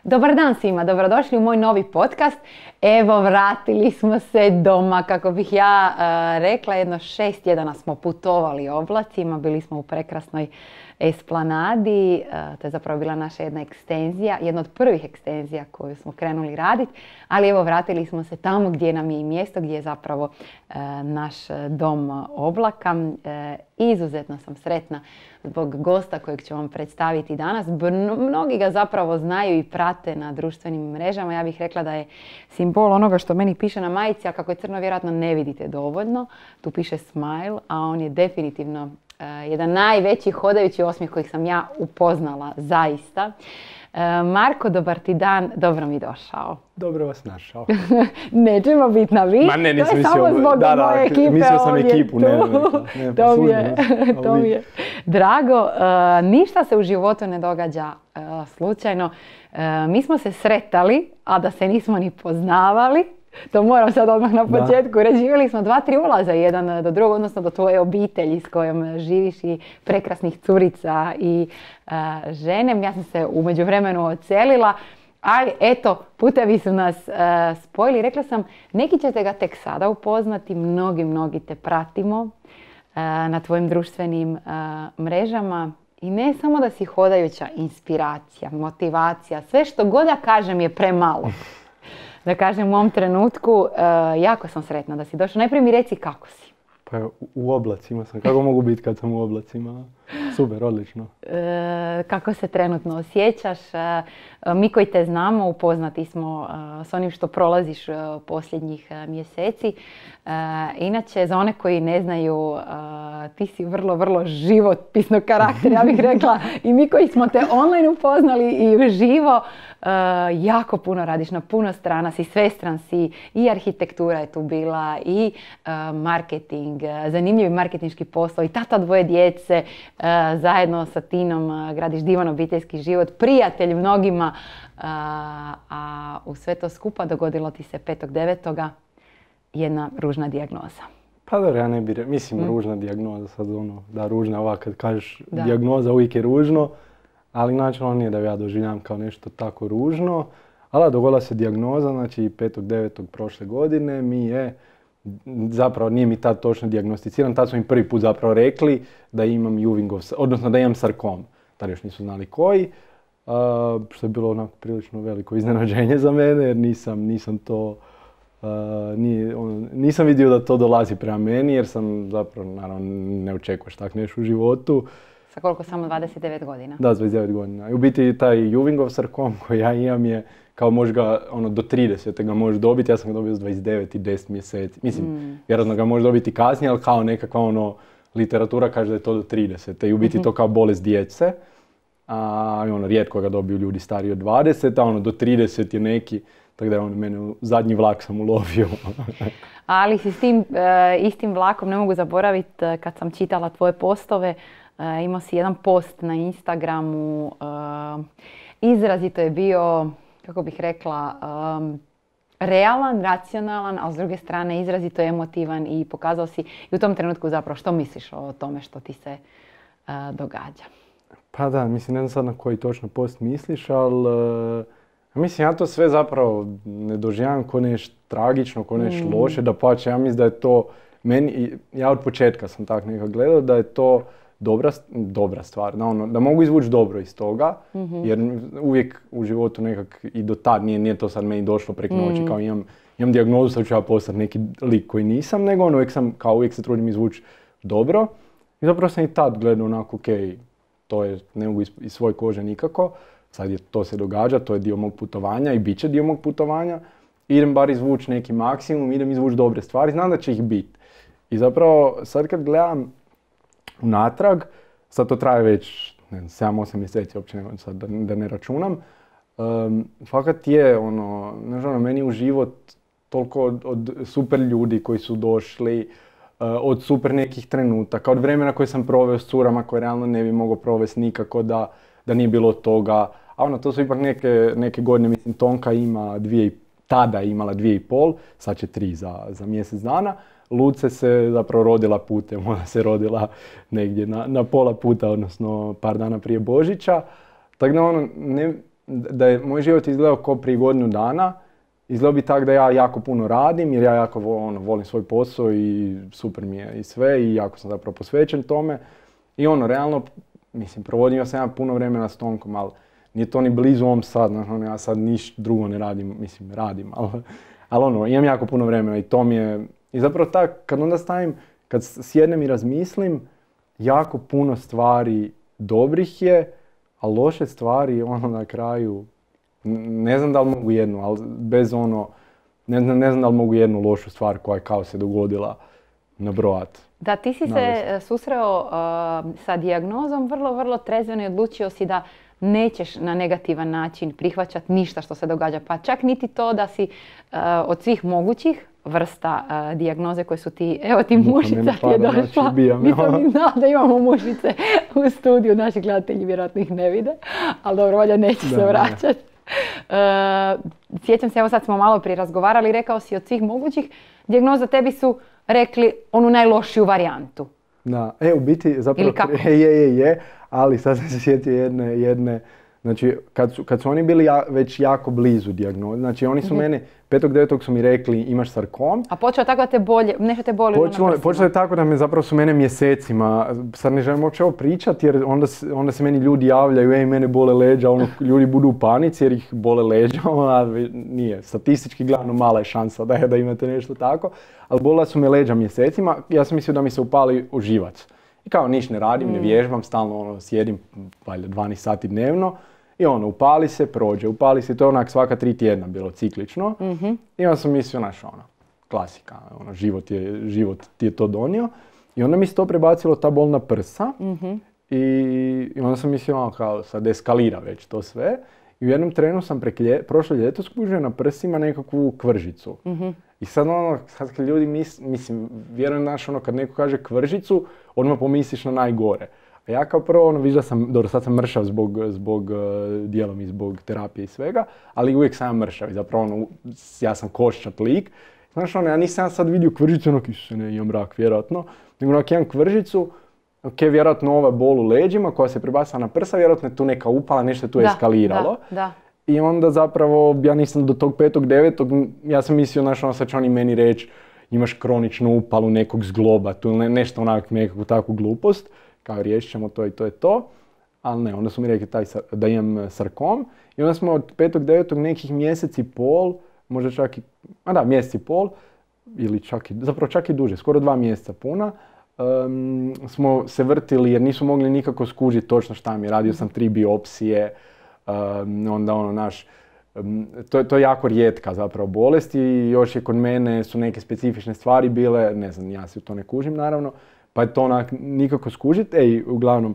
Dobar dan svima, dobrodošli u moj novi podcast. Evo, vratili smo se doma, kako bih ja rekla, jedno 6 tjedana smo putovali oblacima, bili smo u prekrasnoj Esplanadi, to je zapravo bila naša jedna ekstenzija, jedna od prvih ekstenzija koju smo krenuli raditi, ali evo vratili smo se tamo gdje nam je i mjesto, gdje je zapravo naš dom Oblaka. Izuzetno sam sretna zbog gosta kojeg ću vam predstaviti danas. Mnogi ga zapravo znaju i prate na društvenim mrežama. Ja bih rekla da je simbol onoga što meni piše na majici, a kako je crno vjerojatno ne vidite dovoljno. Tu piše smile, a on je definitivno jedan najveći hodajući osmijeh kojeg sam ja upoznala zaista. Marko, dobar ti dan, dobro mi došao. Dobro vas našao. Nećemo biti na vi, Ma ne, nisam to je samo zbog moje ekipe. Mislio sam ovdje. ekipu, ne, To mi je drago. Ništa se u životu ne događa slučajno. Mi smo se sretali, a da se nismo ni poznavali. To moram sad odmah na početku reći. Živjeli smo 2-3 ulaza jedan do drugog, odnosno do tvoje obitelji s kojom živiš i prekrasnih curica i žene. Ja sam se u međuvremenu odselila, ali eto, putevi su nas spojili. Rekla sam, neki ćete ga tek sada upoznati, mnogi te pratimo na tvojim društvenim mrežama. I ne samo da si hodajuća inspiracija, motivacija, sve što god da kažem je premalo. Da kažem u ovom trenutku, jako sam sretna da si došla. Najprije mi reci kako si. Pa u oblacima sam. Kako mogu biti kad sam u oblacima? Super, odlično. Kako se trenutno osjećaš? Mi koji te znamo, upoznati smo s onim što prolaziš posljednjih mjeseci. Inače, za one koji ne znaju, ti si vrlo životpisnog karaktera, ja bih rekla. I mi koji smo te online upoznali i uživo, jako puno radiš, na puno strana si, svestran si, i arhitektura je tu bila, i marketing, zanimljivi marketinški poslovi, i tata dvoje djece, zajedno sa Tinom gradiš divan obiteljski život, prijatelj mnogima, a u sve to skupa dogodilo ti se 5.9. jedna ružna dijagnoza. Pa dobro, ja ne bi mislim ružna dijagnoza, sad ono, da ružna ovak kad kažeš dijagnoza uvijek je ružno, ali načelno nije da ja doživljam kao nešto tako ružno, ali dogodila se dijagnoza, znači 5.9. prošle godine mi je, zapravo nije mi tad točno dijagnosticiran, tad su mi prvi put zapravo rekli da imam Ewingov, odnosno da imam sarkom, tad još nisu znali koji, što je bilo onako prilično veliko iznenađenje za mene jer nisam vidio da to dolazi prema meni jer sam zapravo, naravno, ne očekuješ tak nešto u životu. Sa koliko? Samo 29 godina? Da, 29 godina. I u biti taj Ewingov sarkom koji ja imam je kao možeš ga do 30 ga možeš dobiti, ja sam ga dobio s 29 i 10 mjeseci. Mislim, vjerojatno ga možeš dobiti kasnije, ali kao nekakva literatura kaže da je to do 30. I u biti to kao bolest djece. Rijetko ga dobiju ljudi stariji od 20, a do 30 je neki, tako da je mene zadnji vlak sam ulovio. Ali si s tim istim vlakom, ne mogu zaboraviti, kad sam čitala tvoje postove, imao si jedan post na Instagramu, izrazito je bio, kako bih rekla, realan, racionalan, ali s druge strane izrazito emotivan i pokazao si i u tom trenutku zapravo što misliš o tome što ti se događa. Pa da, mislim, ne znam sad na koji točno post misliš, ali mislim, ja to sve zapravo ne doživljam ko nešto tragično, ko nešto loše, dapače, ja mislim da je to meni, ja od početka sam tako nekako gledao da je to dobra stvar, da mogu izvući dobro iz toga, jer uvijek u životu nekak i do tad nije to sad meni došlo preko noći, kao imam dijagnozu, sad ću ja postati neki lik koji nisam, nego uvijek se trudim izvući dobro. I zapravo sam i tad gledao onako, okej, to je, ne mogu iz svoje kože nikako, sad to se događa, to je dio mog putovanja i bit će dio mog putovanja. Idem bar izvući neki maksimum, idem izvući dobre stvari, znam da će ih biti. I zapravo sad kad gledam unatrag, sad to traje već 7-8 mjeseci, uopće sad da ne računam, fakat je meni u život toliko od super ljudi koji su došli, od super nekih trenutaka, od vremena koje sam proveo s curama koje realno ne bi mogao provesti nikako da nije bilo toga. A to su ipak neke godine, mislim, Tonka ima tada je imala 2,5, sad će 3 za mjesec dana. Luce se zapravo rodila putem, ona se rodila negdje na pola puta, odnosno par dana prije Božića. Tako da da je moj život izgledao kao prije godinu dana, izgledao bi tako da ja jako puno radim, jer ja jako volim svoj posao i super mi je i sve i jako sam zapravo posvećen tome. I realno, mislim, provodio sam ja puno vremena s Tonkom, ali nije to ni blizu ovom sad, ja sad ništa drugo ne radim, mislim, radim, ali imam jako puno vremena i to mi je, i zapravo tako, kad onda stavim, kad sjednem i razmislim, jako puno stvari dobrih je, a loše stvari, na kraju, ne znam da li mogu jednu, ali bez ne znam da li mogu jednu lošu stvar koja je kao se dogodila nabrojati. Da, ti si se susreo sa dijagnozom vrlo, vrlo trezveno i odlučio si da nećeš na negativan način prihvaćati ništa što se događa. Pa čak niti to da si od svih mogućih vrsta dijagnoze koje su ti, evo ti mušica ti je došla. Nisam ni znala da imamo mušice u studiju, naši gledatelji vjerojatno ih ne vide, ali dobro, valjda neće se vraćati. Sjećam se, evo sad smo malo prije razgovarali, rekao si od svih mogućih dijagnoza, tebi su rekli onu najlošiju varijantu. Da, u biti zapravo je, ali sad sam se sjetio jedne, znači kad su oni bili već jako blizu dijagnoze, znači oni su mene 5.9. su mi rekli imaš sarkom. A počeo tako da te bolje, nešto te boli na prsima? Počelo je tako da me zapravo su mene mjesecima, sad ne želim uopće ovo pričati jer onda se meni ljudi javljaju, mene bole leđa, ljudi budu u panici jer ih bole leđa, nije, statistički gledano mala je šansa da imate nešto tako, ali bolela su me leđa mjesecima, ja sam mislio da mi se upali u živac. I kao niš ne radim, ne vježbam, stalno sjedim, valjda 12 sati dnevno. I upali se, prođe, upali se, to je onak svaka 3 tjedna bilo ciklično. I onda sam mislio, klasika, život ti je to donio. I onda mi se to prebacilo, ta bolna prsa. I onda sam mislio, kao sad eskalira već to sve. I u jednom trenu sam prošlo ljeto skužio na prsima nekakvu kvržicu. I sad sad kad ljudi mislim, vjerujem kad neko kaže kvržicu, odmah pomisliš na najgore. A ja kao prvo vidiš da sam, dobro sad sam mršav zbog dijelom i zbog terapije i svega, ali uvijek sam mršav i zapravo ja sam koščat lik. Znaš ja nisam sad vidio kvržicu, imam rak vjerojatno, nego imam kvržicu, vjerojatno ova bol u leđima koja se prebacila na prsa, vjerojatno je tu neka upala, nešto je tu eskaliralo. Da. I onda zapravo ja nisam do tog 5.9. ja sam mislio, sad će oni meni reći imaš kroničnu upalu nekog zgloba, tu nešto nekakvu takvu glupost. Kao riješit ćemo to i to je to, ali ne, onda su mi rekli da imam sarkom i onda smo od 5.9. nekih mjesec i pol, možda čak i, mjesec i pol, ili čak i duže, skoro 2 mjeseca puna, smo se vrtili jer nisu mogli nikako skužiti točno šta mi je, radio sam 3 biopsije, onda to je jako rijetka zapravo bolest i još je kod mene su neke specifične stvari bile, ne znam, ja se u to ne kužim naravno, pa je to nikako skužiti. Uglavnom,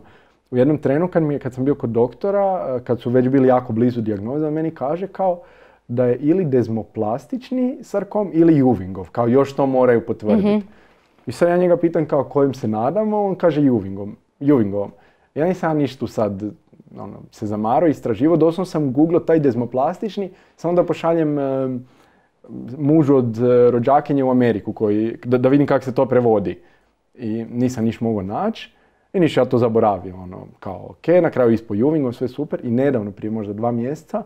u jednom trenu kad sam bio kod doktora, kad su već bili jako blizu dijagnoze, on meni kaže kao da je ili dezmoplastični sarkom ili Ewingov, kao još to moraju potvrditi. I sad ja njega pitam kao kojim se nadamo, on kaže Ewingovom. Ja nisam ništa tu sad se zamarao, istraživo, doslovno sam googlao taj dezmoplastični, samo da pošaljem mužu od rođakinje u Ameriku da vidim kako se to prevodi. I nisam niš mogao naći i niš ja to zaboravio, kao ok, na kraju ispod Ewingov, sve super i nedavno, prije možda 2 mjeseca,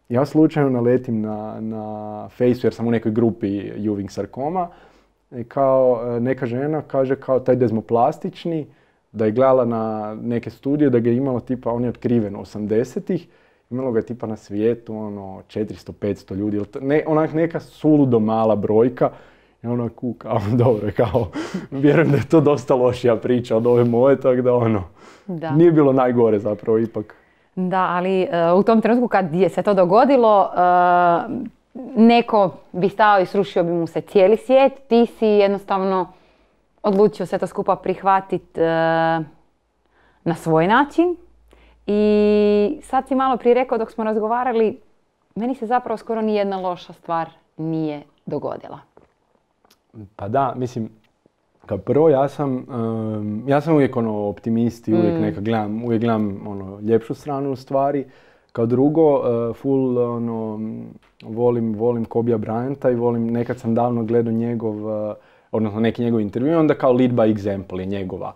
ja slučajno naletim na Faceu jer sam u nekoj grupi Ewing sarkoma i kao neka žena kaže kao taj dezmoplastični, da je gledala na neke studije, da ga je imalo tipa, on je otkriven 80-ih, imalo ga je tipa na svijetu 400-500 ljudi, neka suludo mala brojka. I kao, dobro, kao, vjerujem da je to dosta lošija priča od ove moje, tako da nije bilo najgore zapravo ipak. Da, ali u tom trenutku kad je se to dogodilo, neko bi stao i srušio bi mu se cijeli svijet, ti si jednostavno odlučio sve to skupa prihvatiti na svoj način. I sad si malo prije rekao dok smo razgovarali, meni se zapravo skoro ni jedna loša stvar nije dogodila. Pa da, mislim, kao prvo ja sam uvijek optimist i uvijek gledam ljepšu stranu u stvari. Kao drugo, full volim Kobija Bryanta i nekad sam davno gledao odnosno neki njegov intervju, onda kao lead by example je njegova.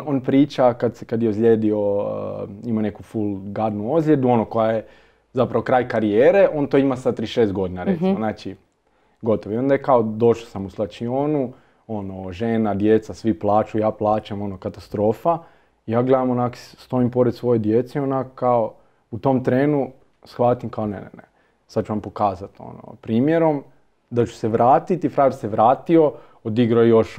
On priča kad je ozlijedio, ima neku full gadnu ozljedu, koja je zapravo kraj karijere, on to ima sa 36 godina recimo, znači gotovo. I onda je kao došao sam u slačionu, žena, djeca, svi plaču, ja plaćam, katastrofa. Ja gledam onak, stojim pored svoje djece i onak kao u tom trenu shvatim kao ne. Sad ću vam pokazati primjerom da ću se vratiti, frajer se vratio, odigrao još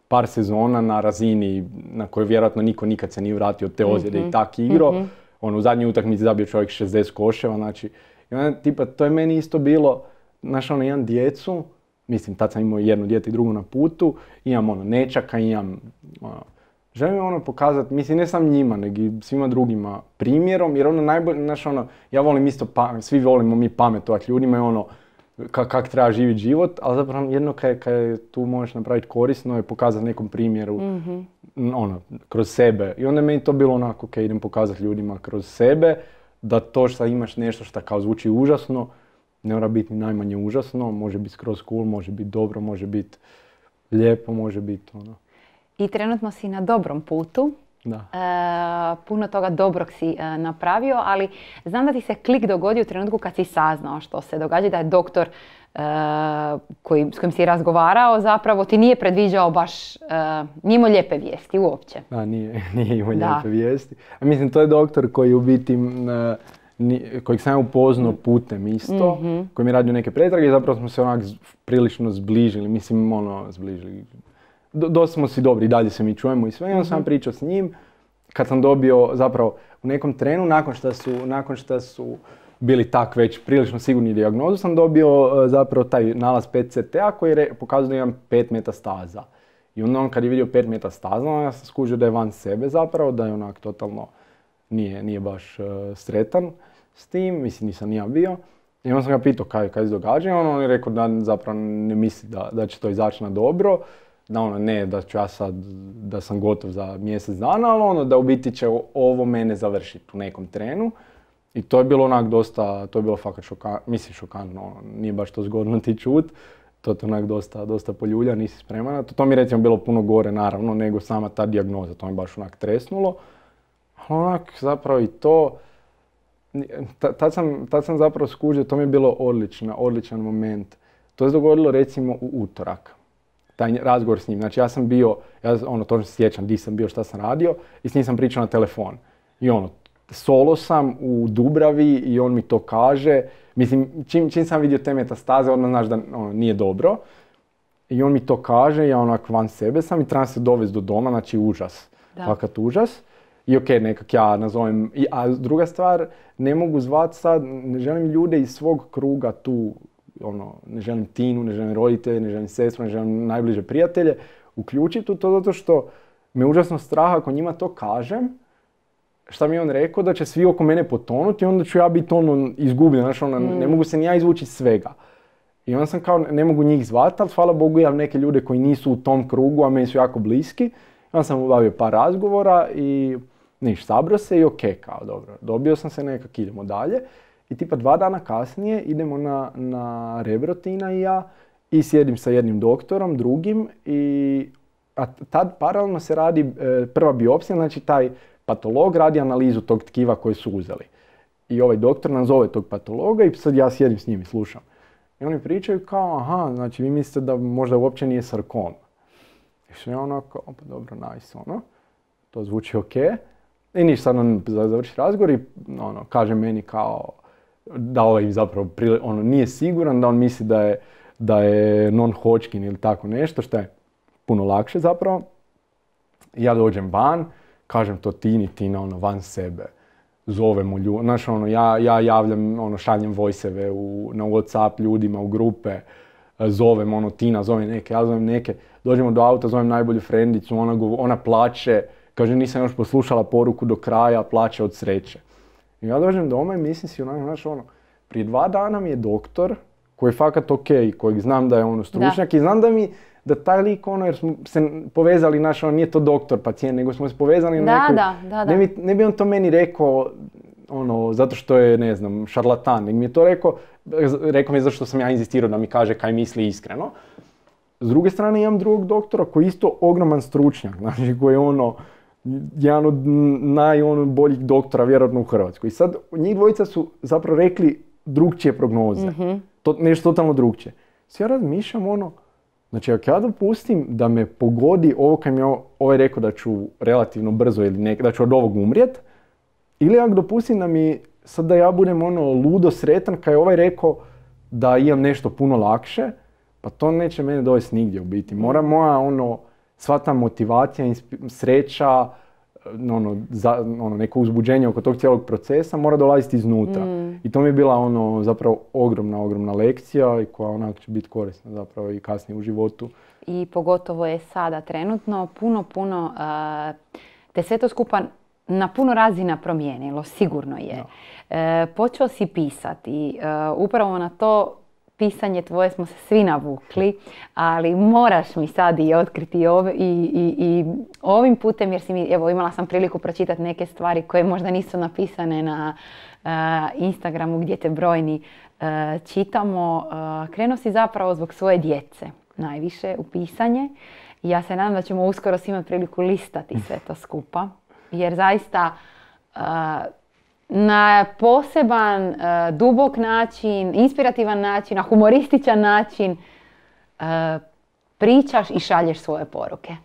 par sezona na razini na kojoj vjerojatno niko nikad se nije vratio od te ozljede i tak igrao. U zadnjoj utakmici zabio čovjek 60 koševa, znači, i onda, tipa, to je meni isto bilo, znaš, imam djecu, mislim, tad sam imao jedno dijete i drugo na putu, imam nečaka, želim pokazati, mislim, ne sam njima, nego i svima drugima primjerom, jer najbolje, znaš, ja volim isto, svi volimo mi pametovati ljudima i kak treba živjeti život, ali zapravo jedno kad tu možeš napraviti korisno je pokazati nekom primjeru, kroz sebe. I onda je meni to bilo onako, ok, idem pokazati ljudima kroz sebe, da to što imaš nešto što kao zvuči užasno, ne mora biti ni najmanje užasno, može biti skroz cool, može biti dobro, može biti lijepo, može biti I trenutno si na dobrom putu. Da. Puno toga dobrog si napravio, ali znam da ti se klik dogodio u trenutku kad si saznao što se događa, da je doktor s kojim si razgovarao zapravo ti nije predviđao baš, nije imao lijepe vijesti uopće. Da, nije imao lijepe vijesti. A mislim, to je doktor koji u biti, kojeg sam ja upoznao putem isto, koji mi je radio neke pretrage i zapravo smo se onak prilično zbližili, mislim, zbližili. Dosta smo si dobri, dalje se mi čujemo i sve, i onda sam pričao s njim, kad sam dobio zapravo u nekom trenu, nakon što su bili tak već prilično sigurni dijagnozu, sam dobio zapravo taj nalaz PET-CT-a koji je pokazao da imam 5 metastaza. I onda on kad je vidio 5 metastaza, ja sam skužio da je van sebe zapravo, da je onak totalno nije baš sretan s tim, mislim nisam ni ja bio. I onda sam ga pitao kaj se događa i on je rekao da zapravo ne misli da će to izaći na dobro. Da ne, da ću ja sad, da sam gotov za mjesec dana, ali da u biti će ovo mene završiti u nekom trenu. I to je bilo onak dosta, to je bilo fakat šokantno, nije baš to zgodno ti čut. To je onak dosta poljulja, nisi spreman na to. To mi recimo bilo puno gore naravno nego sama ta dijagnoza, to mi baš onak tresnulo. Ali onak zapravo i to, tad sam zapravo skužio, to mi je bilo odličan moment. To se dogodilo recimo u utorak. Taj razgovor s njim. Znači ja sam bio, točno se sjećam di sam bio, šta sam radio i s njim sam pričao na telefon. I solo sam u Dubravi i on mi to kaže. Mislim, čim sam vidio te metastaze, odmah znaš da nije dobro. I on mi to kaže, ja onak van sebe sam i trebam se dovesti do doma, znači užas. Fakat užas. I ok, nekak ja nazovem, a druga stvar, ne mogu zvat sad, ne želim ljude iz svog kruga tu, ne želim Tinu, ne želim roditelje, ne želim sestru, ne želim najbliže prijatelje, uključiti u to zato što me užasno strah ako njima to kažem, šta mi je on rekao, da će svi oko mene potonuti i onda ću ja biti izgubljen, znači ne mogu se ni ja izvući iz svega. I onda sam kao, ne mogu njih zvati, ali hvala Bogu imam neke ljude koji nisu u tom krugu, a meni su jako bliski. Onda sam obavio par razgovora i sabrao se i ok, kao dobro, dobio sam se nekak, idemo dalje. I tipa 2 dana kasnije idemo na Rebro, Tina i ja, i sjedim sa jednim doktorom, drugim, a tad paralelno se radi prva biopsija, znači taj patolog radi analizu tog tkiva koje su uzeli. I ovaj doktor nam zove tog patologa i sad ja sjedim s njim i slušam. I oni pričaju kao, aha, znači vi mislite da možda uopće nije sarkom. I sve onako, pa dobro, nice, to zvuči ok. I ništa, sad on završi razgovor i kaže meni kao, da ovaj zapravo nije siguran, da on misli da je non-Hodgkin ili tako nešto, što je puno lakše zapravo. Ja dođem van, kažem to Tina van sebe, zovemo ljudi, znaš ja javljam, šaljem voice-eve na WhatsApp ljudima u grupe, zovem Tina, zove neke, ja zovem neke, dođemo do auta, zovem najbolju frendicu, ona plače, kaže nisam još poslušala poruku do kraja, plače od sreće. I ja dođem doma i mislim si prije 2 dana mi je doktor, koji je fakat ok, kojeg znam da je stručnjak i znam da taj lik jer smo se povezali, nije to doktor pacijent, nego smo se povezali na nekoj... Ne bi on to meni rekao, zato što je, ne znam, šarlatan, nego mi je to rekao mi je zašto sam ja inzistirao da mi kaže kaj misli iskreno. S druge strane imam drugog doktora koji je isto ogroman stručnjak, znači koji je jedan od najboljih doktora vjerojatno u Hrvatskoj. I sad njih dvojica su zapravo rekli drugčije prognoze. Nešto totalno drugčije. Sve ja razmišljam znači ako ja dopustim da me pogodi ovo kad mi je ovaj rekao da ću relativno brzo ili da ću od ovog umrijet, ili ako dopustim da mi sad da ja budem ludo sretan kad je ovaj rekao da imam nešto puno lakše, pa to neće mene dovesti nigdje u biti. Mora moja sva ta motivacija, sreća, neko uzbuđenje oko tog cijelog procesa mora dolaziti iznutra. I to mi je bila zapravo ogromna lekcija i koja onak će biti korisna zapravo i kasnije u životu. I pogotovo je sada trenutno puno te sve to skupa na puno razina promijenilo, sigurno je. Počeo si pisati, upravo na to pisanje tvoje smo se svi navukli, ali moraš mi sad i otkriti i ovim putem, jer imala sam priliku pročitati neke stvari koje možda nisu napisane na Instagramu gdje te brojni čitamo. Krenuo si zapravo zbog svoje djece najviše u pisanje i ja se nadam da ćemo uskoro svi imati priliku listati sve to skupa, jer zaista na poseban, dubok način, inspirativan način, na humorističan način pričaš i šalješ svoje poruke.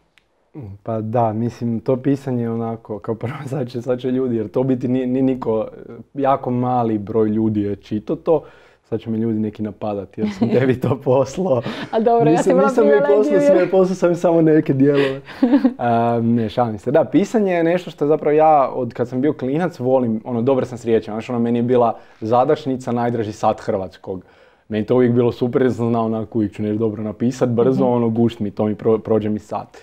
Pa da, mislim, to pisanje je onako, kao prvo sad će ljudi, jer to biti ni niko, jako mali broj ljudi je čitao to. Sad će me ljudi neki napadati jer sam tebi to poslao. A dobro, ja sam bila privilegiju. Poslao sam samo neke dijelove. Ne, šalim se. Da, pisanje je nešto što zapravo ja, od kad sam bio klinac, volim, dobar sam s riječima. Znači, meni je bila zadašnica najdraži sat hrvatskog. Meni to uvijek bilo super jer sam znao onako uvijek ću nešto dobro napisat, brzo, gušt mi, to mi prođe mi sat.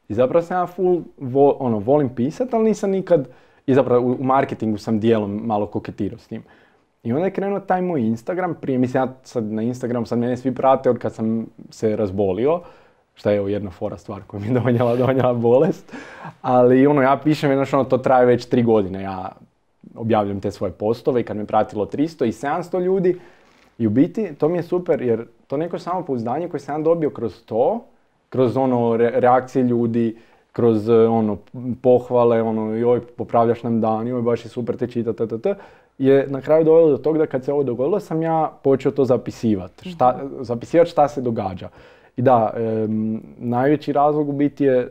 I zapravo sam ja volim pisat, ali nisam nikad, i zapravo u marketingu sam dijelom malo koketirao s tim. I onda je krenuo taj moj Instagram, prije mislim ja sad na Instagram, sad mene svi prate od kad sam se razbolio, šta je jedna fora stvar koja mi je donijela bolest, ali ja pišem, to traje već 3 godine, ja objavljam te svoje postove i kad me pratilo 300 i 700 ljudi i u biti to mi je super jer to neko samopouzdanje koje sam dobio kroz to, kroz reakcije ljudi, kroz pohvale, joj popravljaš nam dan, joj baš je super te čita, je na kraju dovelo do toga da kad se ovo dogodilo sam ja počeo to zapisivati. Zapisivati šta se događa. I da, najveći razlog u biti je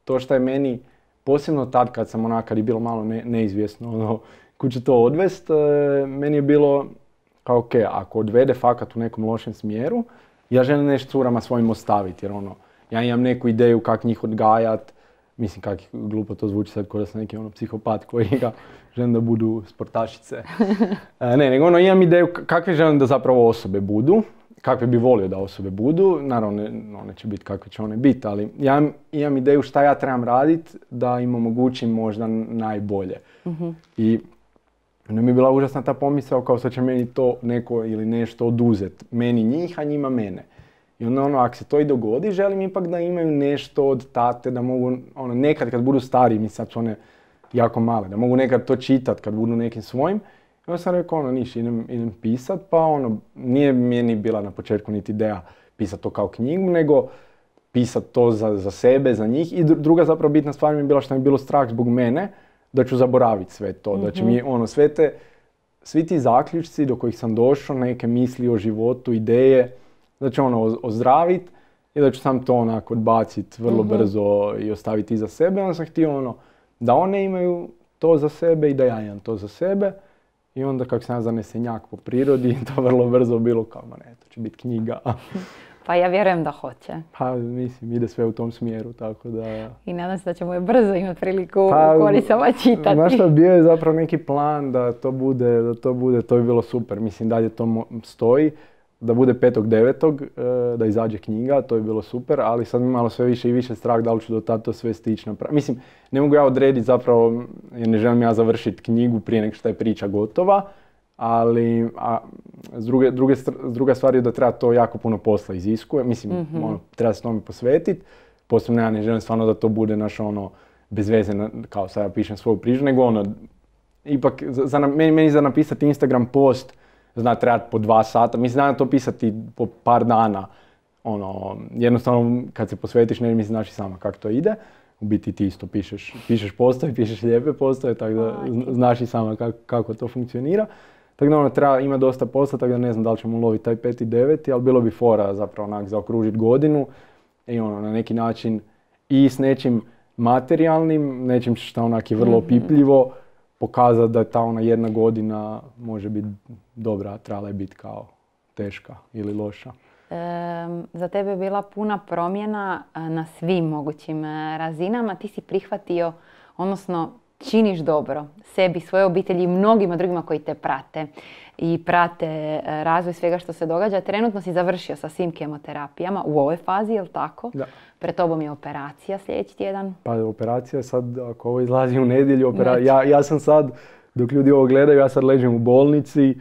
to što je meni, posebno tad kad sam kad je bilo malo neizvjesno kud će to odvest, meni je bilo kao ok, ako odvede fakat u nekom lošem smjeru, ja želim nešto curama svojim ostaviti jer ja imam neku ideju kak njih odgajat, mislim kak glupo to zvuči sad kao da sam neki psihopat koji ga želim da budu sportašice. Nego imam ideju kakve želim da zapravo osobe budu, kakve bi volio da osobe budu, naravno one će biti kakve će one biti, ali ja imam ideju šta ja trebam raditi da im omogućim možda najbolje. I onda mi je bila užasna ta pomisao kao sad će meni to neko ili nešto oduzeti, meni njih, a njima mene. I onda ako se to i dogodi, želim ipak da imaju nešto od tate, da mogu, nekad kad budu stariji, mislim sad su one jako male, da mogu nekad to čitat kad budu nekim svojim. I onda sam rekao, idem pisat, pa nije meni bila na početku niti ideja pisat to kao knjigu, nego pisat to za sebe, za njih. I druga zapravo bitna stvar mi je bila što mi je bilo strah zbog mene, da ću zaboraviti sve to, da će mi svi ti zaključci do kojih sam došao, neke misli o životu, ideje, da ću ozdraviti i da ću sam to odbaciti vrlo brzo i ostaviti iza sebe. Onda sam htio da one imaju to za sebe i da ja imam to za sebe. I onda kako sam ja zanesenjak po prirodi, to vrlo brzo bilo kao, to će biti knjiga. Pa ja vjerujem da hoće. Pa mislim, ide sve u tom smjeru, tako da... I nadam se da ćemo je brzo imati priliku korisama čitati. Znaš što, bio je zapravo neki plan da to bude, to bi bilo super. Mislim, dalje to stoji. Da bude 5.9. Da izađe knjiga, to je bilo super, ali sad mi malo sve više i više strah da li ću do tada to sve stići napraviti. Mislim, ne mogu ja odrediti zapravo, jer ne želim ja završiti knjigu prije nego što je priča gotova, ali druga stvar je da treba to jako puno posla iziskuje, mislim, treba se tome posvetiti, posebno ja ne želim stvarno da to bude bez veze, kao sad ja pišem svoju priču, nego ipak, meni za napisati Instagram post, zna trebati po 2 sata, mislim da to pisati po par dana, jednostavno kad se posvetiš ne mislim znaš i sama kako to ide, u biti ti isto pišeš postave, pišeš lijepe postave, tako da znaš i sama kako to funkcionira. Tako da treba ima dosta posla, tako da ne znam da li ćemo uloviti taj 5. i 9. ali bilo bi fora zapravo onak zaokružiti godinu i na neki način i s nečim materijalnim, nečim što onak je vrlo opipljivo, pokazati da ta ona jedna godina može biti dobra, trebala je biti kao teška ili loša. Za tebe je bila puna promjena na svim mogućim razinama. Ti si prihvatio, odnosno činiš dobro sebi, svoje obitelji i mnogima drugima koji te prate i prate razvoj svega što se događa. Trenutno si završio sa svim kemoterapijama u ovoj fazi, je li tako? Da. Pred tobom je operacija sljedeći tjedan. Pa operacija sad, ako ovo izlazi u nedjelju, ja sam sad, dok ljudi ovo gledaju, ja sad ležim u bolnici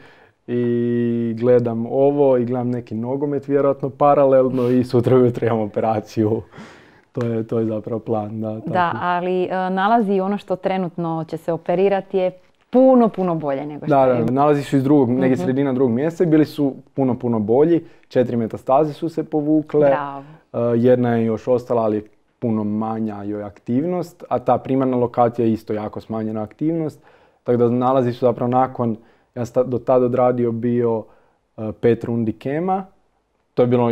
i gledam ovo i gledam neki nogomet vjerojatno paralelno i sutra ujutro imam operaciju. To je zapravo plan. Da, ali nalazi ono što trenutno će se operirati je puno bolje nego što je. Da, nalazi su iz negdje sredina 2. mjeseca i bili su puno bolji. 4 metastaze su se povukle. Bravo. Jedna je još ostala, ali je puno manja joj aktivnost, a ta primarna lokacija je isto jako smanjena aktivnost. Tako da nalazi su zapravo nakon, ja sam do tada odradio bio 5 rundi kema. To je bilo,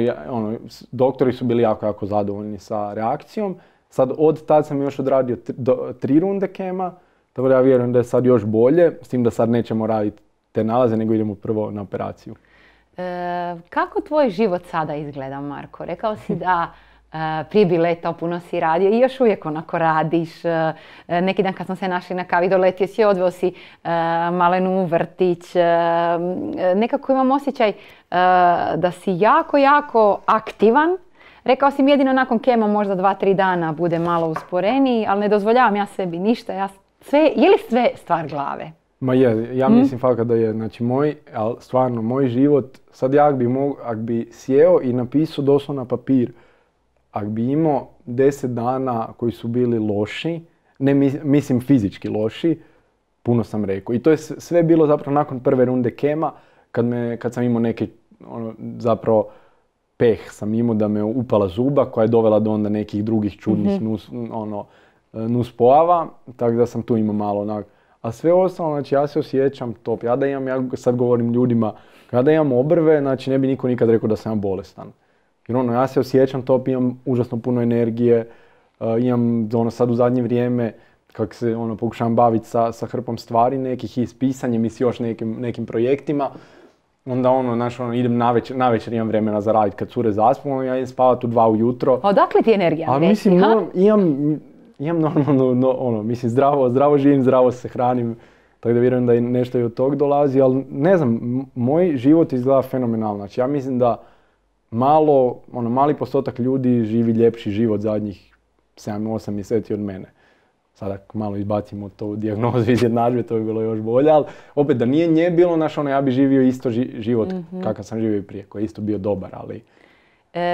doktori su bili jako zadovoljni sa reakcijom. Sad od tad sam još odradio 3 runde kema, tako da ja vjerujem da je sad još bolje, s tim da sad nećemo raditi te nalaze, nego idemo prvo na operaciju. Kako tvoj život sada izgleda, Marko? Rekao si da prije bi letao, puno si radio i još uvijek onako radiš. Neki dan kad smo se našli na kavi, doletio si, odveo si Malenu u vrtić. Nekako imam osjećaj da si jako aktivan. Rekao si mi jedino nakon kema možda 2-3 dana bude malo usporeniji, ali ne dozvoljavam ja sebi ništa. Je li sve stvar glave? Ma je, ja mislim fakat da je. Znači stvarno moj život, sad ja ak bi sjeo i napisao doslovno na papir, ak bi imao 10 dana koji su bili loši, ne mislim fizički loši, puno sam rekao. I to je sve bilo zapravo nakon prve runde kema, kad sam imao neke, zapravo peh sam imao da me upala zuba koja je dovela do onda nekih drugih čudnih nuspojava, tako da sam tu imao malo onak. A sve ostalo, znači ja se osjećam top. Ja sad govorim ljudima, kada imam obrve, znači ne bi niko nikad rekao da sam ja bolestan. Jer ja se osjećam top, imam užasno puno energije, imam sad u zadnje vrijeme, kako se pokušavam baviti sa hrpom stvari nekih i s pisanjem i s još nekim projektima. Onda idem navečer imam vremena za raditi kad cure zaspu, ja idem spavati u 2 ujutro. Odakle ti energija? A mislim, imam normalno, mislim zdravo živim, zdravo se hranim, tako da vjerujem da nešto i od tog dolazi, ali ne znam, moj život izgleda fenomenalno. Znači ja mislim da mali postotak ljudi živi ljepši život zadnjih 7-8 mjeseci od mene. Sada malo izbacimo tu dijagnozu iz jednadžbe, to bi bilo još bolje, ali opet da nije nje bilo, ja bi živio isto život kakav sam živio i prije, koji je isto bio dobar, ali...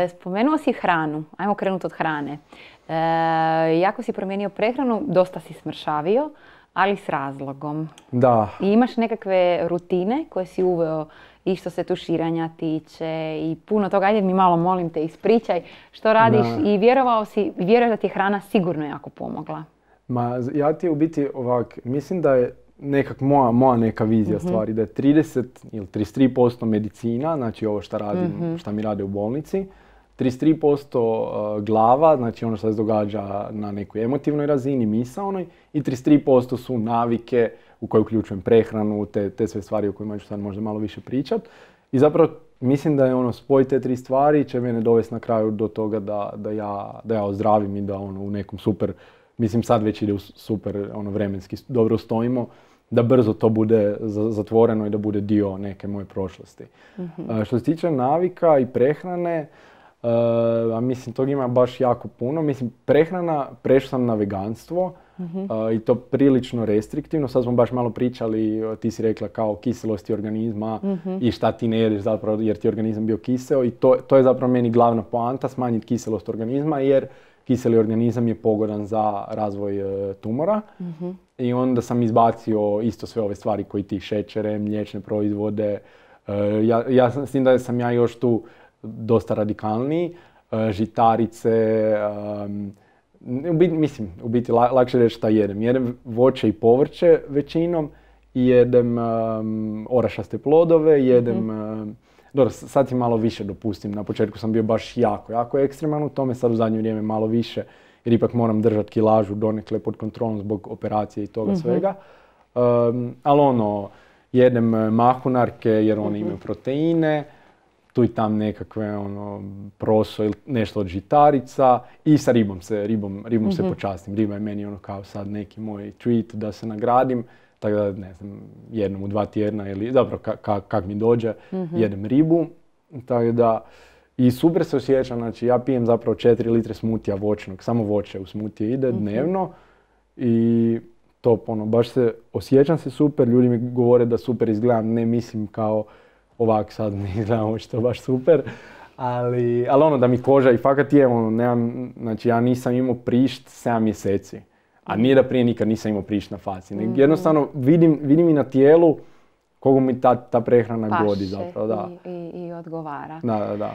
Spomenuo si hranu, ajmo krenuti od hrane. Jako si promijenio prehranu, dosta si smršavio, ali s razlogom. Da. I imaš nekakve rutine koje si uveo i što se tuširanja tiče i puno toga. Ajde mi malo, molim te, ispričaj što radiš i vjeruješ da ti je hrana sigurno jako pomogla. Ja ti u biti mislim da je nekak moja neka vizija stvari, da je 30 ili 33% medicina, znači ovo što radim, što mi rade u bolnici, 33% glava, znači ono što se događa na nekoj emotivnoj razini, misaonoj, i 33% su navike u koje uključujem prehranu, te sve stvari o kojima ću sad možda malo više pričat. I zapravo mislim da je spoj te 3 stvari će mene dovesti na kraju do toga da ja ozdravim i da u nekom super, mislim sad već ide u super vremenski dobro stojimo, da brzo to bude zatvoreno i da bude dio neke moje prošlosti. Što se tiče navika i prehrane, mislim tog ima baš jako puno. Mislim, prehrana, prešao sam na veganstvo i to prilično restriktivno. Sad smo baš malo pričali, ti si rekla kao kiselosti organizma i šta ti ne jedeš zapravo jer ti organizam bio kiseo i to je zapravo meni glavna poanta, smanjiti kiselost organizma jer kiseli organizam je pogodan za razvoj tumora. I onda sam izbacio isto sve ove stvari koji ti šećere, mliječne proizvode. S tim da sam ja još tu dosta radikalniji. Žitarice, u biti lakše reći šta jedem. Jedem voće i povrće većinom i jedem orašaste plodove, jedem... Dobro, sad si malo više dopustim. Na početku sam bio baš jako ekstreman u tome, sad u zadnje vrijeme malo više, jer ipak moram držati kilažu donekle pod kontrolom zbog operacije i toga svega. Ali jedem mahunarke jer one imaju proteine, tu i tam nekakve proso ili nešto od žitarica i sa ribom se počastim. Riba je meni kao sad neki moj treat da se nagradim. Tako da, ne znam, jednom u 2 tjedna ili zapravo kak mi dođe, jedem ribu. Tako da, i super se osjećam, znači ja pijem zapravo 4 litre smutija voćnog, samo voće u smutije ide dnevno i to baš osjećam se super, ljudi mi govore da super izgledam, ne mislim kao ovak sad ne izgledam očito baš super, ali da mi koža i fakat je, znači ja nisam imao prišt 7 mjeseci. A nije da prije nikad nisam imao prišt na faci. Jednostavno vidim i na tijelu koliko mi ta prehrana godi zapravo. Da. I odgovara. Da.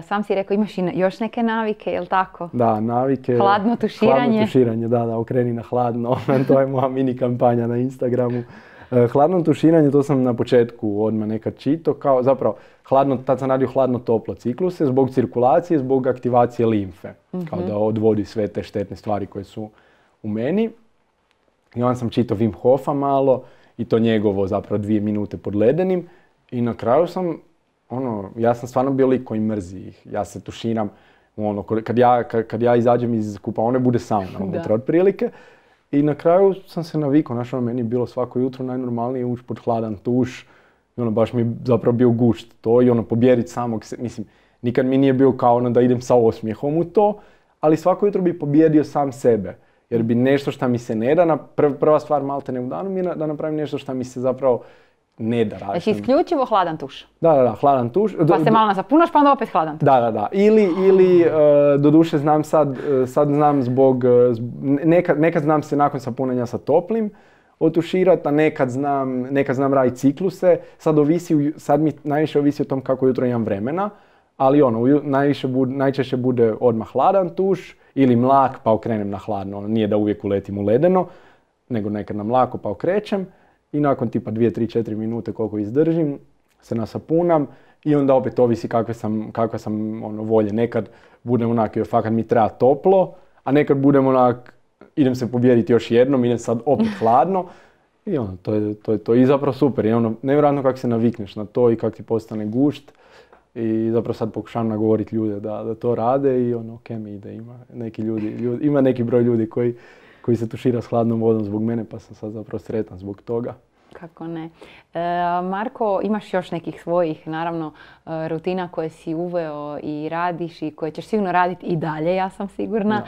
Sam si rekao imaš i još neke navike, jel tako? Da, navike. Hladno tuširanje. Da, okreni na hladno. To je moja mini kampanja na Instagramu. Hladno tuširanje, to sam na početku odmah nekad čitao, kao zapravo tad sam radio hladno-toplo cikluse zbog cirkulacije, zbog aktivacije limfe. Kao da odvodi sve te štetne stvari koje su u meni. I onda sam čitao Wim Hofa malo i to njegovo zapravo 2 minute pod ledenim. I na kraju sam, ja sam stvarno bio lik koji mrzi ih. Ja se tuširam, kad ja izađem iz kupaone bude sauna unutra otprilike. I na kraju sam se navikao, meni je bilo svako jutro najnormalnije ući pod hladan tuš. I baš mi je zapravo bio gušt to i pobjediti samog se, mislim, nikad mi nije bio kao da idem sa osmijehom u to, ali svako jutro bi pobjedio sam sebe. Jer bi nešto što mi se ne da, prva stvar malte ne u danu mi je da napravim nešto što mi se zapravo ne da raditi. Znači isključivo hladan tuš? Da, hladan tuš. Pa se malo nasapunaš pa onda opet hladan tuš? Da. Ili doduše znam sad znam nekad znam se nakon sapunanja sa toplim otuširati, a nekad znam raditi cikluse. Sad mi najviše ovisi o tom kako jutro imam vremena, ali najčešće bude odmah hladan tuš, ili mlak pa okrenem na hladno. Nije da uvijek uletim u ledeno, nego nekad na mlako pa okrećem i nakon tipa 2, 3, 4 minute koliko izdržim se nasapunam i onda opet ovisi kakve sam volje. Nekad budem onak, fakat mi treba toplo, a nekad budem onak, idem se pobijediti još jednom, idem sad opet hladno i to je to. I zapravo super, i nevjerojatno kako se navikneš na to i kako ti postane gušt. I zapravo sad pokušavam nagovoriti ljude da to rade i mi ide, ima neki broj ljudi koji se tušira s hladnom vodom zbog mene, pa sam sad zapravo sretan zbog toga. Kako ne. Marko, imaš još nekih svojih, naravno, rutina koje si uveo i radiš i koje ćeš sigurno raditi i dalje, ja sam sigurna.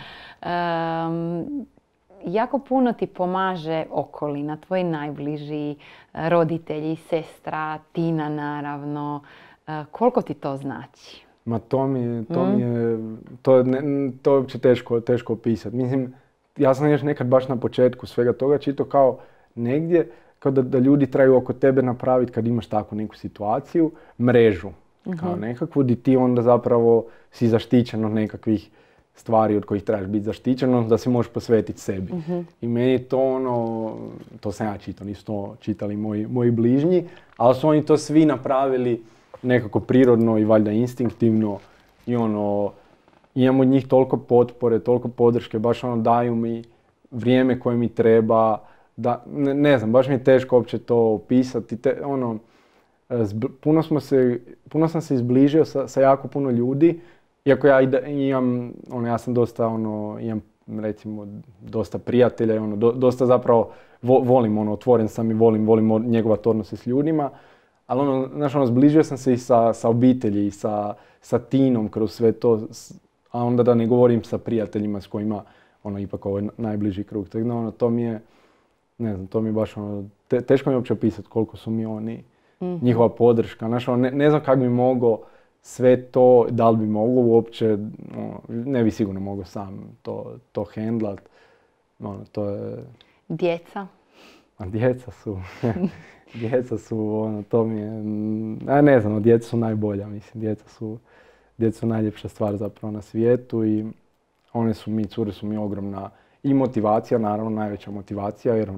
Jako puno ti pomaže okolina, tvoji najbliži, roditelji, sestra, Tina naravno. Koliko ti to znači? Ma to je uopće teško opisati. Mislim, ja sam još nekad baš na početku svega toga čitao kao negdje, kao da ljudi trebaju oko tebe napraviti kad imaš takvu neku situaciju, mrežu. Kao nekakvu, di ti onda zapravo si zaštićen od nekakvih stvari od kojih trebaš biti zaštićen, da se možeš posvetiti sebi. I meni to to sam ja čitao, nisu to čitali moji bližnji, ali su oni to svi napravili nekako prirodno i valjda instinktivno i imam od njih toliko potpore, toliko podrške, baš daju mi vrijeme koje mi treba, ne znam, baš mi je teško uopće to opisati, puno sam se izbližio sa jako puno ljudi, iako ja ja sam dosta, imam recimo dosta prijatelja, dosta zapravo volim, otvoren sam i volim njegovati odnose s ljudima. Ali zbližio sam se i sa obitelji i sa Tinom kroz sve to, a onda da ne govorim sa prijateljima s kojima ipak ovo je najbliži krug. Tako to mi je, ne znam, to mi je baš teško mi je uopće opisati koliko su mi oni, njihova podrška. Ne znam kako bi mogao sve to, da li bi mogao uopće, ne bi sigurno mogao sam to handlat. To je... Djeca? A djeca su... Djeca su, to mi je, ne znam, djeca su najbolja, mislim, djeca su najljepša stvar zapravo na svijetu i cure su mi ogromna i motivacija, naravno najveća motivacija, jer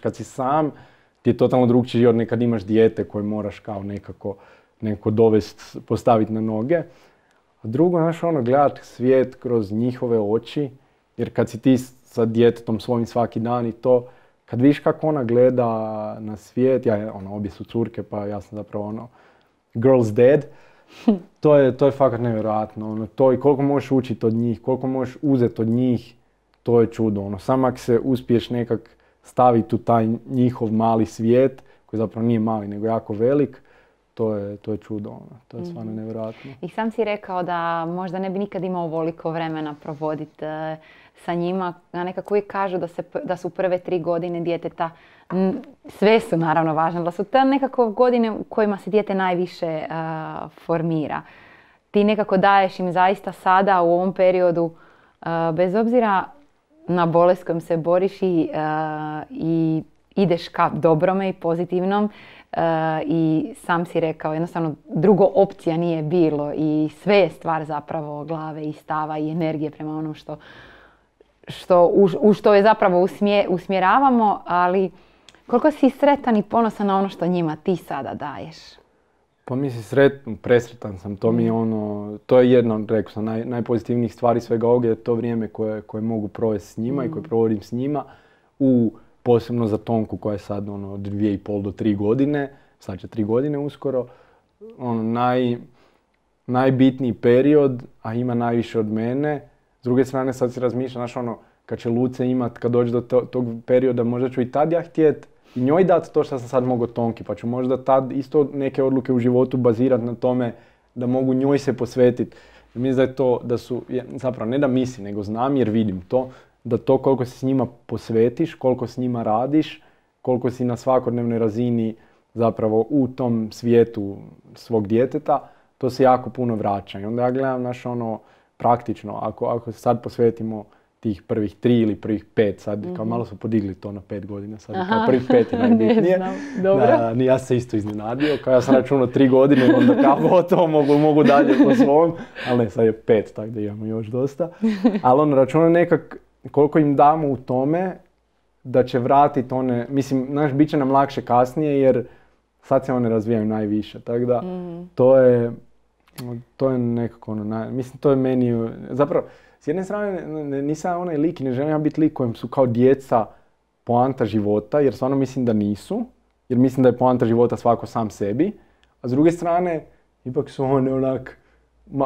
kad si sam, ti je totalno drugčiji život nego kad imaš dijete koje moraš kao nekako dovesti, postaviti na noge. A drugo, gledati svijet kroz njihove oči, jer kad si ti sa djetetom svojim svaki dan i to, kad vidiš kako ona gleda na svijet, obje su curke, pa ja sam zapravo girl's dad, to je fakat nevjerojatno. To i koliko možeš učiti od njih, koliko možeš uzeti od njih, to je čudo. Samo ako se uspiješ nekak staviti u taj njihov mali svijet, koji zapravo nije mali, nego jako velik, to je čudo. To je stvarno nevjerojatno. I sam si rekao da možda ne bi nikad imao ovoliko vremena provoditi sa njima. A nekako uvijek kažu da su prve 3 godine djeteta, sve su naravno važne, da su te nekako godine u kojima se dijete najviše formira. Ti nekako daješ im zaista sada u ovom periodu, bez obzira na bolest kojom se boriš i ideš ka dobrome i pozitivnom, i sam si rekao, jednostavno drugo opcija nije bilo i sve je stvar zapravo glave i stava i energije prema onom u što je zapravo usmjeravamo, ali koliko si sretan i ponosan na ono što njima ti sada daješ? Pa mislim presretan sam, to je jedno, rekao sam, najpozitivnijih stvari svega ovoga je to vrijeme koje mogu provesti s njima i koje provodim s njima, posebno za Tonku koja je sad od 2,5 do 3 godine, sad će 3 godine uskoro, najbitniji period, a ima najviše od mene. S druge strane sad si razmišljam, kad će Luce imat, kad dođe do tog perioda, možda ću i tad ja htjet i njoj dati to što sam sad mogao Tonki, pa ću možda tad isto neke odluke u životu bazirati na tome da mogu njoj se posvetiti. Mislim da je to, zapravo ne da mislim, nego znam jer vidim to, da to koliko se s njima posvetiš, koliko s njima radiš, koliko si na svakodnevnoj razini zapravo u tom svijetu svog djeteta, to se jako puno vraća. I onda ja gledam praktično, ako se sad posvetimo tih prvih 3 ili prvih 5, sad kao malo su podigli to na 5 godina, sad kao prvih 5 je najbitnije. Ja se isto iznenadio, kao ja sam računao 3 godine, onda kao to mogu dalje po svom, ali ne, sad je 5, tako da imamo još dosta. Ali računao nekak koliko im damo u tome da će vratiti bit će nam lakše kasnije jer sad se one razvijaju najviše, tako da to je nekako to je meni, zapravo s jedne strane nisam onaj lik i ne želim ja biti lik kojem su kao djeca poanta života, jer stvarno mislim da nisu, jer mislim da je poanta života svako sam sebi, a s druge strane ipak su one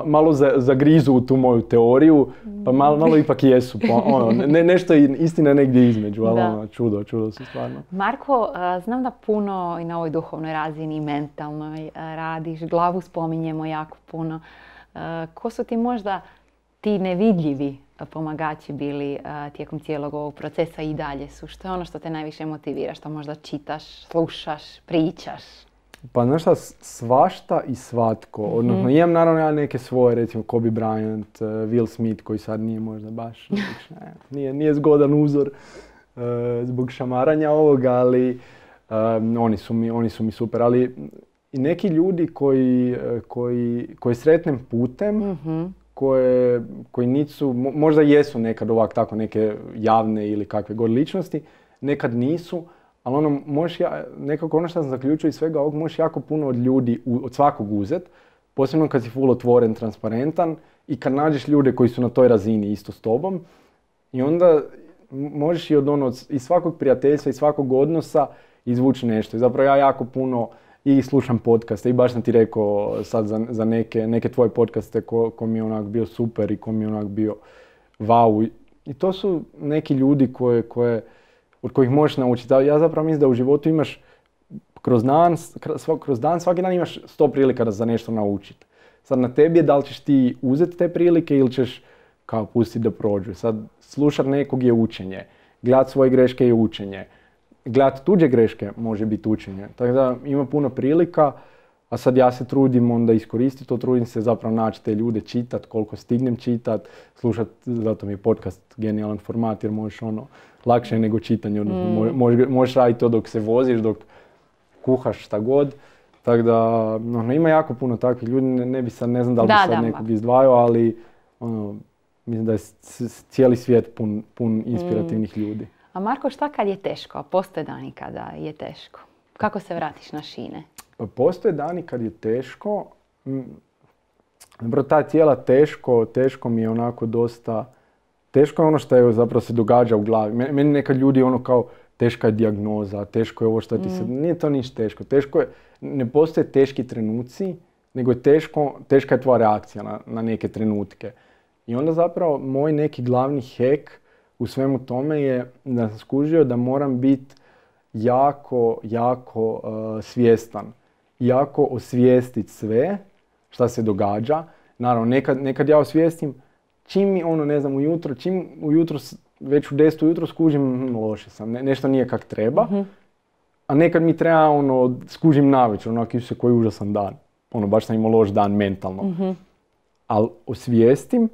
malo zagrizu u tu moju teoriju, pa malo ipak jesu. Nešto je istina negdje između, ali čudo su stvarno. Marko, znam da puno i na ovoj duhovnoj razini i mentalnoj radiš, glavu spominjemo jako puno. Ko su ti možda ti nevidljivi pomagači bili tijekom cijelog ovog procesa i dalje su? Što je ono što te najviše motivira, što možda čitaš, slušaš, pričaš? Pa znaš šta, svašta i svatko. Odnosno, imam naravno neke svoje, recimo Kobe Bryant, Will Smith koji sad nije možda baš, nije zgodan uzor zbog šamaranja ovoga, ali oni su mi super. Ali i neki ljudi koji sretnem putem, koji nisu, možda jesu nekad ovak tako neke javne ili kakve god ličnosti, nekad nisu, ali nekako ono što sam zaključio iz svega ovog, možeš jako puno od ljudi, od svakog uzet, posebno kad si full otvoren, transparentan i kad nađeš ljude koji su na toj razini isto s tobom i onda možeš i iz svakog prijateljstva i svakog odnosa izvući nešto. I zapravo ja jako puno i slušam podcaste i baš sam ti rekao sad za neke tvoje podcaste ko mi je onak bio super i ko mi je onak bio wow. I to su neki ljudi od kojih možeš naučiti. Ja zapravo mislim da u životu imaš kroz dan, svaki dan imaš 100 prilika za nešto naučiti. Sad na tebi je da li ćeš ti uzeti te prilike ili ćeš kao pustiti da prođu. Sad slušat nekog je učenje, gledat svoje greške je učenje, gledat tuđe greške može biti učenje. Tako da ima puno prilika, a sad ja se trudim onda iskoristiti to, trudim se zapravo naći te ljude, čitat koliko stignem čitat, slušat, zato mi je podcast genijalan format jer možeš lakše nego čitanje, možeš raditi to dok se voziš, dok kuhaš šta god. Tako da, ima jako puno takvih ljudi, ne znam da li bi sad nekog izdvajao, ali mislim da je cijeli svijet pun inspirativnih ljudi. A Marko, šta kad je teško? Postoje dani kada je teško. Kako se vratiš na šine? Pa postoje dani kad je teško. Ta tijela teško mi je onako dosta... Teško je ono što je zapravo se događa u glavi. Meni nekad ljudi kao teška je dijagnoza, teško je ovo što ti se... Nije to ništa teško. Teško je, ne postoje teški trenuci, nego je teška je tvoja reakcija na neke trenutke. I onda zapravo moj neki glavni hack u svemu tome je da sam skužio da moram biti jako svjestan. Jako osvijestiti sve šta se događa. Naravno, nekad ja osvijestim čim mi ujutro, već u 10 ujutro skužim loše sam, nešto nije kak treba. A nekad mi treba skužim navečer, se koji užasan dan. Baš sam imao loš dan mentalno. Ali osvijestim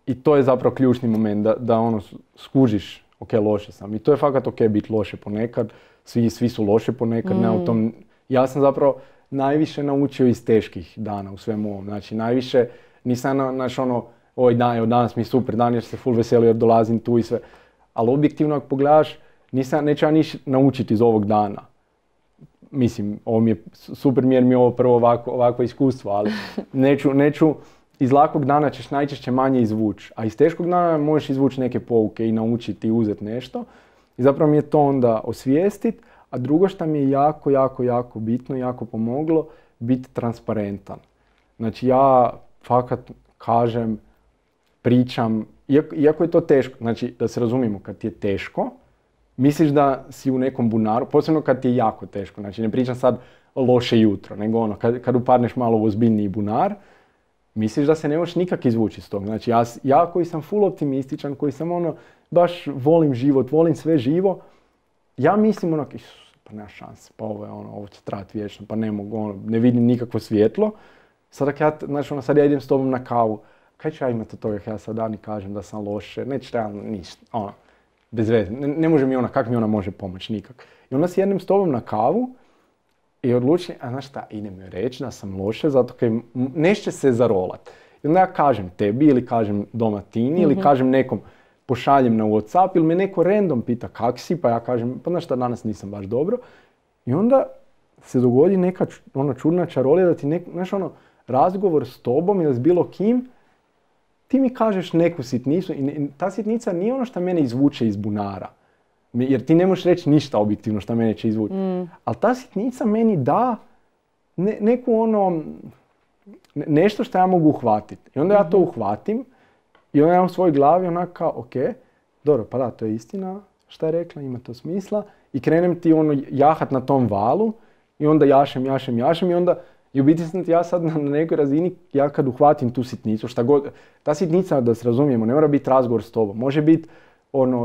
i to je zapravo ključni moment da skužiš, ok, loše sam. I to je fakat ok biti loše ponekad, svi su loše ponekad, ne u tom. Ja sam zapravo najviše naučio iz teških dana u svemu ovom. Znači, najviše nisam ovaj dan, evo danas mi je super dan jer se full veselio jer dolazim tu i sve. Ali objektivno ako pogledaš, neću ja niš naučiti iz ovog dana. Mislim, ovo mi je super jer mi je ovo prvo ovako iskustvo, ali neću iz lakog dana ćeš najčešće manje izvući, a iz teškog dana možeš izvući neke pouke i naučiti i uzeti nešto. I zapravo mi je to onda osvijestiti, a drugo što mi je jako bitno, jako pomoglo, biti transparentan. Znači ja fakat kažem, pričam, iako je to teško, znači da se razumijemo, kad ti je teško, misliš da si u nekom bunaru, posebno kad ti je jako teško, znači ne pričam sad loše jutro, nego kad upadneš malo u ozbiljniji bunar, misliš da se ne možeš nikak izvući iz toga. Znači ja koji sam full optimističan, koji sam baš volim život, volim sve živo, ja mislim pa nema šanse, pa ovo će trajati vječno, pa ne mogu, ne vidim nikakvo svjetlo. Sad ja idem s tobom na kavu, kaj ću ja imati od toga, ja sad dan i kažem da sam loše, neće realno ništa, bez veze, ne može mi kak mi ona može pomoći, nikak. I onda sjednem s tobom na kavu i odlučim, a znaš šta, idem joj reći da sam loše, zato kaj neće se zarolat. I onda ja kažem tebi ili kažem doma Tini ili kažem nekom, pošaljem na WhatsApp ili me neko random pita kak si, pa ja kažem, pa znaš šta, danas nisam baš dobro. I onda se dogodi neka čudna čarolija da ti razgovor s tobom ili s bilo kim, ti mi kažeš neku sitnicu i ta sitnica nije ono što mene izvuče iz bunara. Jer ti ne možeš reći ništa objektivno što mene će izvući. Ali ta sitnica meni da neku nešto što ja mogu uhvatiti. I onda ja to uhvatim i onda ja u svojoj glavi kao, ok, dobro, pa da, to je istina, šta je rekla, ima to smisla. I krenem ti jahat na tom valu i onda jašem i onda i u biti sam ja sad na nekoj razini, ja kad uhvatim tu sitnicu, šta god, ta sitnica, da se razumijemo, ne mora biti razgovor s tobom, može biti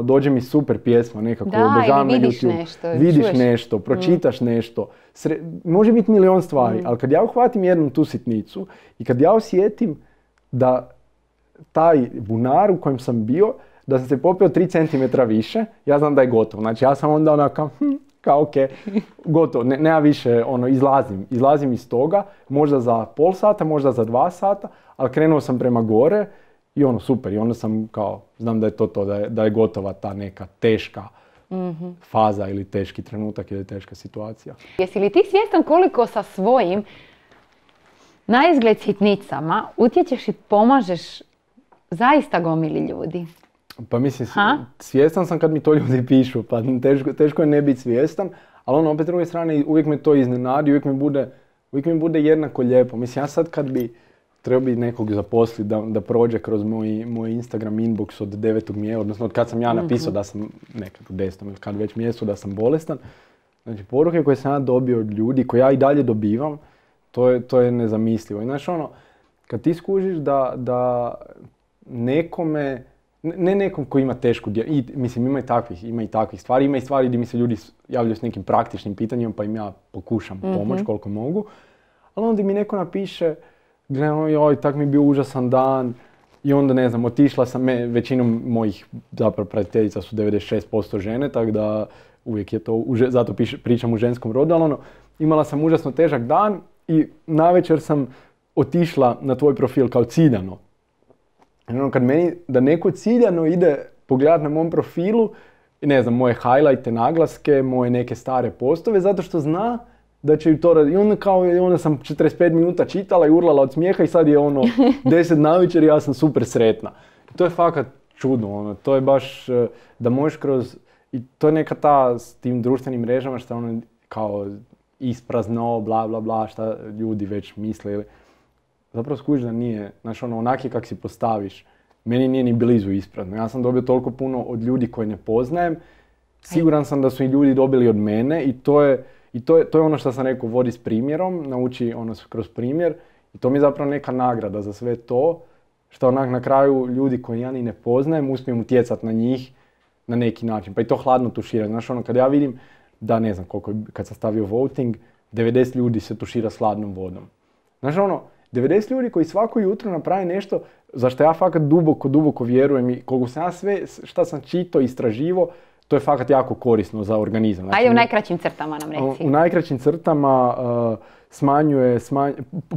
dođe mi super pjesma nekako, obožavam na YouTube, vidiš nešto, pročitaš nešto, može biti milion stvari, ali kad ja uhvatim jednom tu sitnicu i kad ja osjetim da taj bunar u kojem sam bio, da sam se popeo 3 cm više, ja znam da je gotovo. Znači ja sam onda kao ok, gotovo, nema više, izlazim iz toga, možda za pol sata, možda za 2 sata, ali krenuo sam prema gore i super, i onda sam kao, znam da je to, da je gotova ta neka teška faza ili teški trenutak ili teška situacija. Jesi li ti svjestan koliko sa svojim naizgled sitnicama utječeš i pomažeš zaista gomili ljudi? Pa mislim, svjestan sam kad mi to ljudi pišu, pa teško je ne biti svjestan, ali opet s druge strane uvijek me to iznenadi, uvijek mi bude jednako lijepo. Mislim, ja sad kad bi trebao bi nekog zaposliti da prođe kroz moj Instagram inbox od 9. mjeseca, odnosno od kad sam ja napisao da sam nekad u 10. ili kad već mjesecu da sam bolestan. Znači, poruke koje sam ja dobio od ljudi, koje ja i dalje dobivam, to je nezamislivo. I znaš kad ti skužiš da nekome, ne nekom koji ima tešku, mislim ima i takvih stvari, ima i stvari gdje mi se ljudi javljaju s nekim praktičnim pitanjima pa im ja pokušam pomoći koliko mogu, ali onda mi neko napiše, joj, tak mi je bio užasan dan i onda ne znam, otišla sam, većinom mojih zapravo pratiteljica su 96% žene, tako da uvijek je to, zato pričam u ženskom rodu, ali imala sam užasno težak dan i navečer sam otišla na tvoj profil kao ciljano. Kad meni da neko ciljano ide pogledati na mom profilu, ne znam, moje highlighte, naglaske, moje neke stare postove, zato što zna da će ju to raditi. I onda sam 45 minuta čitala i urlala od smijeha i sad je 10 navečer i ja sam super sretna. To je fakat čudno, to je baš da možeš kroz, i to je neka ta s tim društvenim mrežama što kao isprazno, bla bla bla, šta ljudi već misle. Zapravo skužiš da nije, znaš onaki kak si postaviš, meni nije ni blizu isprazno. Ja sam dobio toliko puno od ljudi koje ne poznajem, siguran sam da su i ljudi dobili od mene i to je ono što sam rekao, vodi s primjerom, nauči kroz primjer i to mi je zapravo neka nagrada za sve to, što na kraju ljudi koji ja ni ne poznajem uspijem utjecati na njih na neki način. Pa i to hladno tuširanje. Znaš, kad ja vidim da ne znam koliko, kad sam stavio voting, 90 ljudi se tušira s hladnom vodom. Znaš, 90 ljudi koji svako jutro napravi nešto za što ja fakat duboko vjerujem i koliko sam ja sve šta sam čitao i istraživo, to je fakat jako korisno za organizam. Znači, ajde u najkraćim crtama nam reci. U najkraćim crtama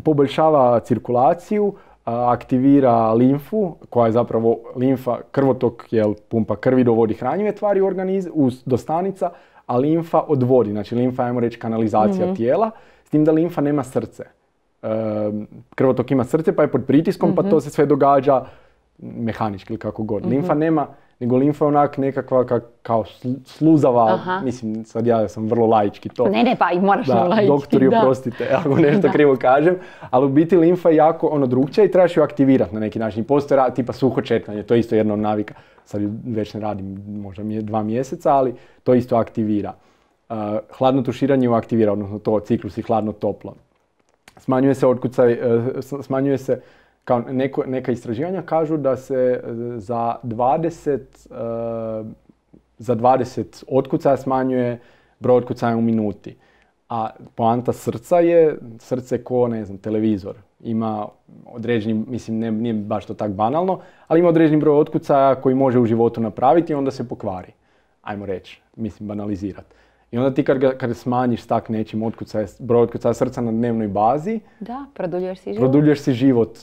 poboljšava cirkulaciju, aktivira limfu, koja je zapravo limfa, krvotok, pumpa krvi dovodi hranjive tvari u organizam, do stanica, a limfa odvodi. Znači limfa, ajmo reći, kanalizacija tijela, s tim da limfa nema srce. Krvotok ima srce pa je pod pritiskom, pa to se sve događa mehanički ili kako god. Limfa nema, nego limfa je onak nekakva kao sluzava, mislim, sad ja sam vrlo laički to. Ne, pa i moraš na laički, doktori, oprostite, ako nešto krivo kažem, ali u biti limfa je jako drugčija i trebaš ju aktivirati na neki način. Postoje tipa suho čekanje, to je isto jedna od navika, sad već ne radim možda 2 mjeseca, ali to isto aktivira. Hladno tuširanje ju aktivira, odnosno to ciklus i hladno-toplo. Smanjuje se otkucaj, smanjuje se, kao neka istraživanja kažu da se za 20 otkucaja smanjuje broj otkucaja u minuti. A poanta srca je, srce ko, ne znam, televizor. Ima određeni, mislim, nije baš to tak banalno, ali ima određeni broj otkucaja koji može u životu napraviti i onda se pokvari. Ajmo reći, mislim, banalizirati. I onda ti kad smanjiš s tak nečim broj otkucaja srca na dnevnoj bazi, da, produljuješ si život.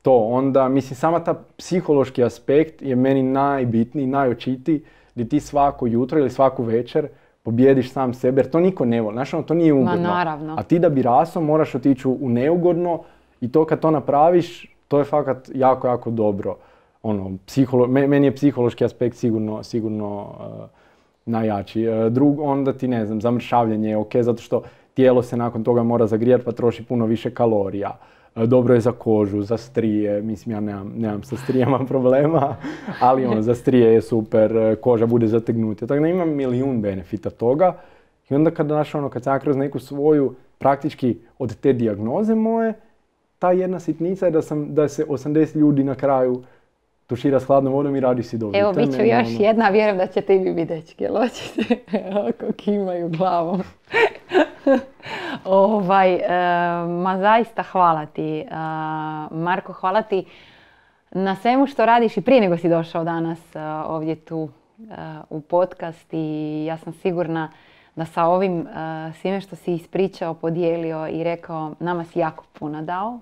Onda, mislim, sama ta psihološki aspekt je meni najbitniji, najočitiji, gdje ti svako jutro ili svaku večer pobjediš sam sebe, jer to niko ne voli. Znaš, to nije ugodno. Naravno. A ti da bi rasao moraš otići u neugodno i to kad to napraviš, to je fakat jako, jako dobro. Meni je psihološki aspekt sigurno najjači. Onda ti, ne znam, zamršavljanje je ok, zato što tijelo se nakon toga mora zagrijati pa troši puno više kalorija. Dobro je za kožu, za strije, mislim ja nemam sa strijama problema, ali za strije je super, koža bude zategnuta. Tako da imam milijun benefita toga. I onda kad sam kroz neku svoju, praktički od te dijagnoze moje, ta jedna sitnica je da se 80 ljudi na kraju tušira s hladnom vodom i radi si dobro. Evo, bit će još jedna, vjerujem da ćete i vi vidjeti, jel hoćete? Ako kimaju glavom. Ma zaista hvala ti, Marko, hvala ti na svemu što radiš i prije nego si došao danas ovdje tu u podcast i ja sam sigurna da sa ovim svime što si ispričao, podijelio i rekao, nama si jako puno dao.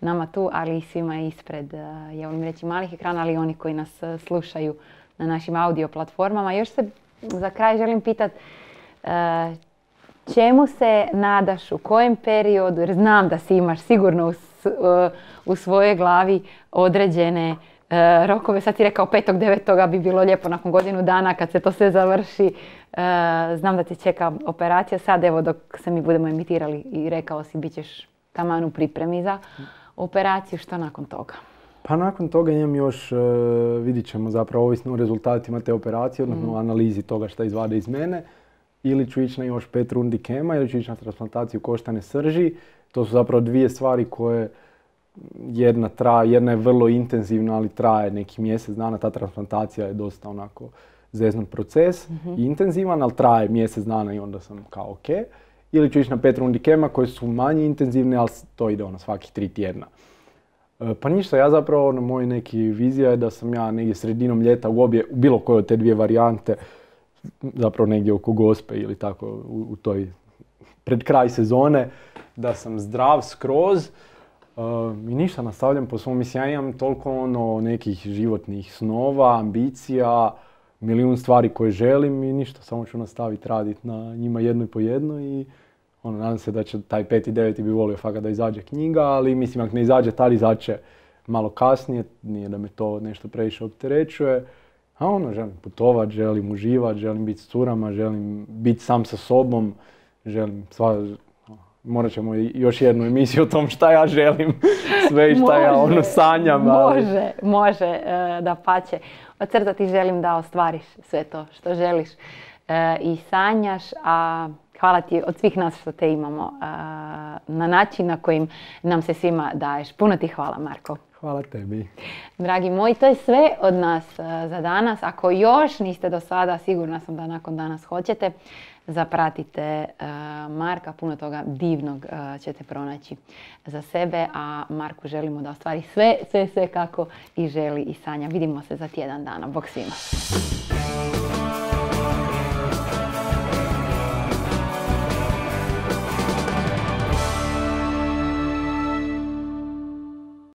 Nama tu, ali i svima ispred, ja volim reći, malih ekrana, ali i oni koji nas slušaju na našim audio platformama. Još se za kraj želim pitati čemu se nadaš, u kojem periodu, jer znam da si imaš sigurno u svojoj glavi određene rokove. Sad si rekao 5.9. bi bilo lijepo nakon godinu dana kad se to sve završi. Znam da te čeka operacija. Sad evo dok se mi budemo emitirali i rekao si bit ćeš taman u pripremi za operaciju. Što nakon toga? Pa nakon toga imam još, vidit ćemo zapravo ovisno o rezultatima te operacije, odnosno analizi toga šta izvade iz mene. Ili ću ići na još 5 rundi kema, ili ću ići na transplantaciju koštane srži. To su zapravo dvije stvari koje jedna je vrlo intenzivna, ali traje neki mjesec dana. Ta transplantacija je dosta onako zeznut proces i intenzivan, ali traje mjesec dana i onda sam kao ok. Ili ću ići na 5 rundi kema koje su manje intenzivne, ali to ide svakih 3 tjedna. Pa ništa, ja zapravo, moj neki vizija je da sam ja negdje sredinom ljeta u bilo koje od te dvije varijante, zapravo negdje oko Gospe ili tako u toj pred kraj sezone, da sam zdrav skroz. I ništa, nastavljam po svom, mislim, ja imam toliko nekih životnih snova, ambicija, milijun stvari koje želim i ništa, samo ću nastaviti raditi na njima jedno i po jedno i nadam se da će taj 5.9. bi volio fakat da izađe knjiga, ali mislim ako ne izađe tad, izaće malo kasnije, nije da me to nešto previše opterećuje. A želim putovat, želim uživat, želim biti s curama, želim biti sam sa sobom, želim morat ćemo još jednu emisiju o tom šta ja želim, sve i šta ja sanjam. Može, dapače. Ocrtati želim da ostvariš sve to što želiš i sanjaš, a hvala ti od svih nas što te imamo na način na kojim nam se svima daješ. Puno ti hvala, Marko. Hvala tebi. Dragi moji, to je sve od nas za danas. Ako još niste do sada, sigurna sam da nakon danas hoćete, zapratite Marka, puno toga divnog ćete pronaći za sebe, a Marku želimo da ostvari sve kako i želi i sanja. Vidimo se za tjedan dana. Bog svima.